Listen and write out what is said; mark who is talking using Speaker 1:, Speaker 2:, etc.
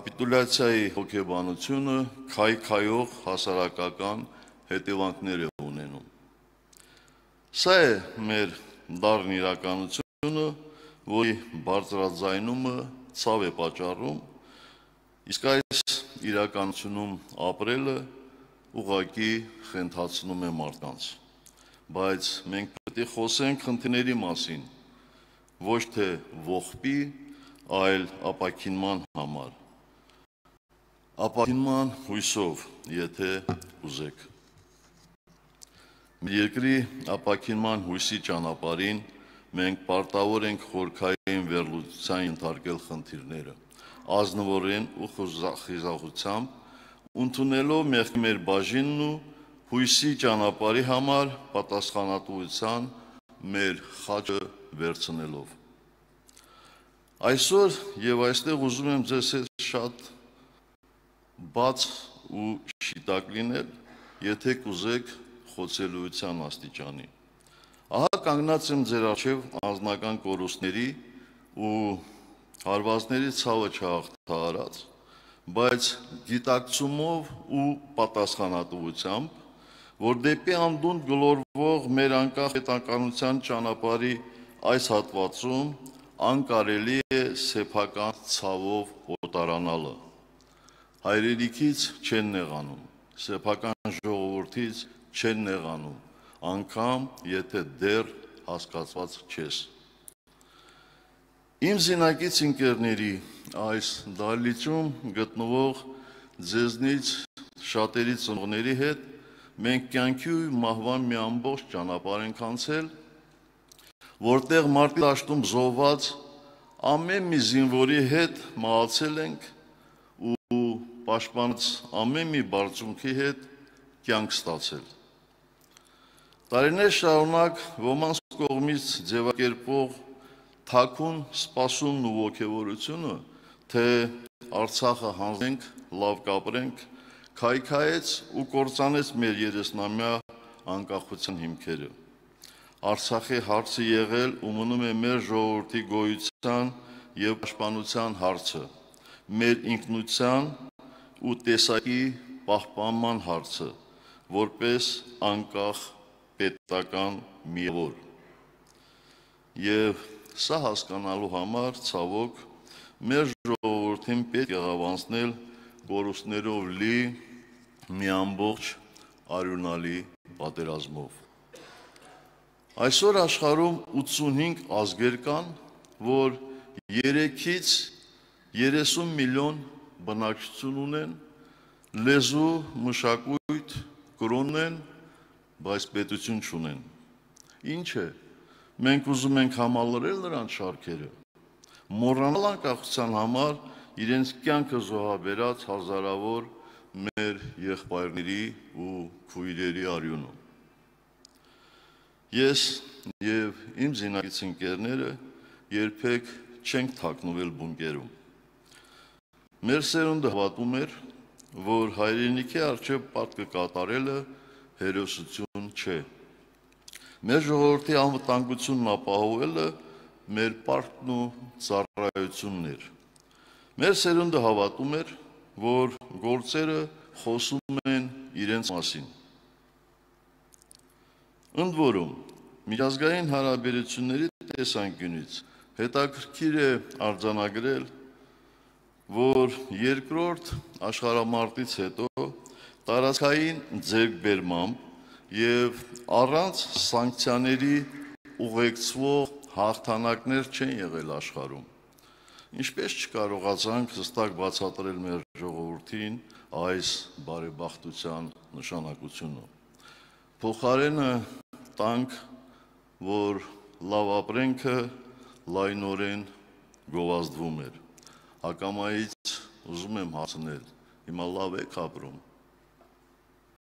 Speaker 1: կապիտուլյացիայի հոգեբանությունը քայքայող հասարակական հետևանքներ է ունենում։ Սա է մեր դառն իրականությունը, որի բարձրաձայնումը ցավ է պատճառում, իսկ այս իրականությունում ապրելը ուղղակի խենթացնում է մարդկանց։ Բայց մենք պետք է խոսենք խնդիրների մասին, ոչ թե ողբի, այլ ապաքինման համար։ Ապաքինման հույսով, եթե ուզեք։ Մեր երկրի ապաքինման հույսի ճանապարհին մենք պարտավոր ենք խորքային վերլուծության ենթարկել խնդիրները, ազնվորեն ու խիզախությամբ ընդունելով մեր բաժինն ու հույսի ճանապարհի համար պատասխանատվության մեր խաչը վերցնելով։ Այսօր եւ այստեղ ուզում եմ ձեզ հետ շատ բաց ու շիտակ լինել, եթե կուզեք խոցելիության աստիճանի։ Ահա կանգնած եմ ձեր առջև անձնական կորուստների ու հարվածների ցավը չհաղթահարած, բայց գիտակցումով ու պատասխանատվությամբ, որ դեպի անդունդ գլորվող մեր անկախ պետականության ճանապարհի այս հատվածում անկարելի է սեփական ցավով օտարանալը։ Հայրենիքից չեն նեղանում, սեփական ժողովրդից չեն նեղանում, անգամ եթե դեռ հասկացված չես։ Իմ զինակից ընկերների այս դահլիճում գտնվող ձեզնից շատերի ծնողների հետ մենք կյանքի ու մահվան մի ամբողջ ճանապարհ ենք անցել, որտեղ մարտի դաշտում զոհված ամեն մի զինվորի հետ մահացել ենք ու պաշտպանած ամեն մի բարձունքի հետ կյանք ստացել։ Տարիներ շարունակ ոմանց կողմից ձևակերպող թաքուն սպասումն ու ոգևորությունը, թե Արցախը հանձնենք, լավ կապրենք, քայքայեց ու կործանեց մեր 30-ամյա անկախության հիմքերը։ Արցախի հարցը եղել ու մնում է մեր ժողովրդի գոյության եւ պաշտպանության հարցը, մեր ինքնության ու տեսակի պահպանման հարցը, որպես անկախ պետական միավոր։ Եվ սա հասկանալու համար, ցավոք, մեր ժողովրդին պետք է ավանցնել կորուստներով լի մի ամբողջ արյունալի պատերազմով։ Այսօր աշխարհում 85 ազգեր կան, որ 3-ից 30 միլիոն բնակչություն ունեն, լեզու, մշակույթ, կրոն ունեն, բայց պետություն չունեն։ Ինչ է, մենք ուզում ենք համալրել նրանց շարքերը, մոռանալ անկախության համար իրենց կյանքը զոհաբերած հազարավոր մեր եղբայրների ու քույրերի արյունը։ Ես եւ իմ զինակից ընկերները երբեք չենք թաքնվել բունկերում։ Մեր սերունդը հավատում էր, որ հայրենիքի առջև պարտքը կատարելը հերոսություն չէ։ Մեր ժողովրդի անվտանգությունն ապահովելը մեր պարտքն ու ծառայությունն էր։ Մեր սերունդը հավատում էր, որ գործերը խոսում են իրենց մասին։ Ընդ որում, միջազգային հարաբերությունների տեսանկյունից հետաքրքիր է արձանագրել, որ երկրորդ աշխարհամարտից հետո տարածքային ձեռքբերմամբ եւ առանց սանկցիաների ուղեկցվող հաղթանակներ չեն եղել աշխարհում։ Ինչպես չկարողացանք հստակ բացատրել մեր ժողովրդին այս բարեբախտության նշանակությունը։ Փոխարենը տանք, որ լավ ապրենքը լայնորեն գովազդվում էր։ Հակամայից ուզում եմ հասնել, հիմա լավ եք ապրում,